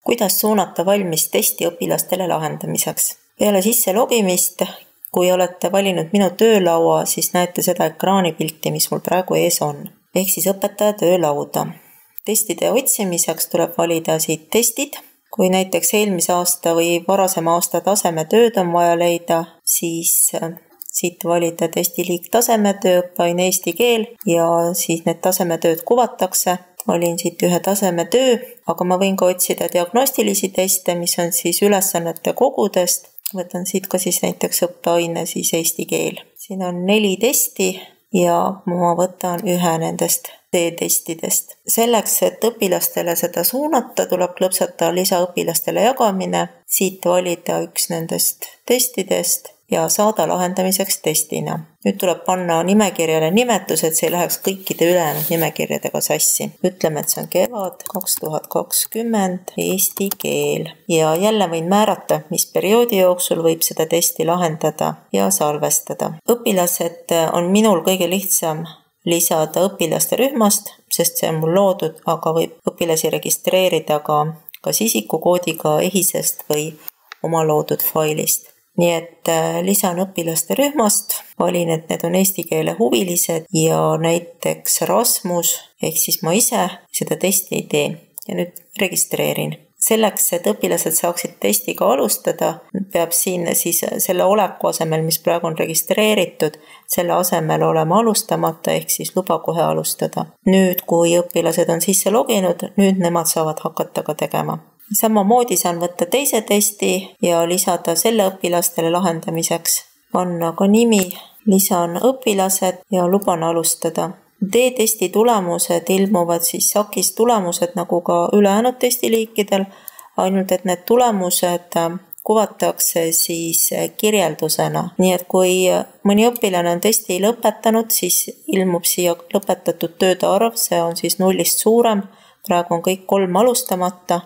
kuidas suunata valmis testi õpilastele lahendamiseks. Peale sisse logimist, kui olete valinud minu töölaua, siis näete seda ekraanipilti, mis mul praegu ees on. Ehk siis õpetaja töölauda. Testide otsimiseks tuleb valida siit testid. Kui näiteks eelmise aasta või varasema aasta tasemetööd on vaja leida, siis siit valida testiliik tasemetöö, õppeaine eesti keel ja siis need tasemetööd kuvatakse. Valin siit ühe tasemetöö, aga ma võin ka otsida diagnostilisi teste, mis on siis ülesannete kogudest. Võtan siit ka siis näiteks õppeaine siis eesti keel. Siin on 4 testi ja ma võtan ühe nendest testidest. Selleks, et õpilastele seda suunata, tuleb klõpsata lisaõpilastele jagamine, siit valida üks nendest testidest ja saada lahendamiseks testina. Nüüd tuleb panna nimekirjale nimetus, et see ei läheks kõikide ülejäänud nimekirjadega sassi. Ütleme, et see on kevad 2020 eesti keel ja jälle võin määrata, mis perioodi jooksul võib seda testi lahendada ja salvestada. Õpilased on minul kõige lihtsam lisada õpilaste rühmast, sest see on mul loodud, aga võib õpilasi registreerida ka kas isikukoodiga EHIS-est või oma loodud failist. Nii et lisan õpilaste rühmast, valin, et need on eesti keele huvilised ja näiteks Rasmus, ehk siis ma ise seda testi ei tee ja nüüd registreerin. Selleks, et õpilased saaksid testiga alustada, peab siin siis selle oleku asemel, mis praegu on registreeritud, selle asemel olema alustamata, ehk siis luba kohe alustada. Nüüd, kui õpilased on sisse loginud, nüüd nemad saavad hakata ka tegema. Samamoodi saan võtta teise testi ja lisada selle õpilastele lahendamiseks. Panna ka nimi, lisan õpilased ja luban alustada. D-testi tulemused ilmuvad siis SAK-is tulemused nagu ka ülejäänud testiliikidel, ainult et need tulemused kuvatakse siis kirjeldusena. Nii et kui mõni õpilane on testi lõpetanud, siis ilmub siia lõpetatud tööde arv, see on siis 0-st suurem, praegu on kõik 3 alustamata.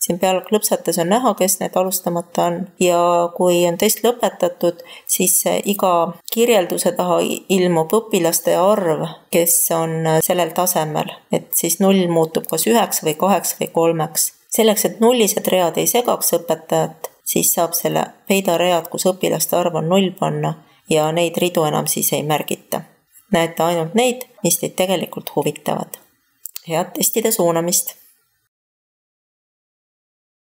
Siin peal klõpsates on näha, kes need alustamata on ja kui on test lõpetatud, siis iga kirjelduse taha ilmub õpilaste arv, kes on sellel tasemel, et siis 0 muutub kas 1 või 2 või 3. Selleks, et nullised read ei segaks õpetajat, siis saab selle peida read, kus õpilaste arv on 0 panna ja neid ridu enam siis ei märgita. Näete ainult neid, mis teid tegelikult huvitavad. Head testide suunamist!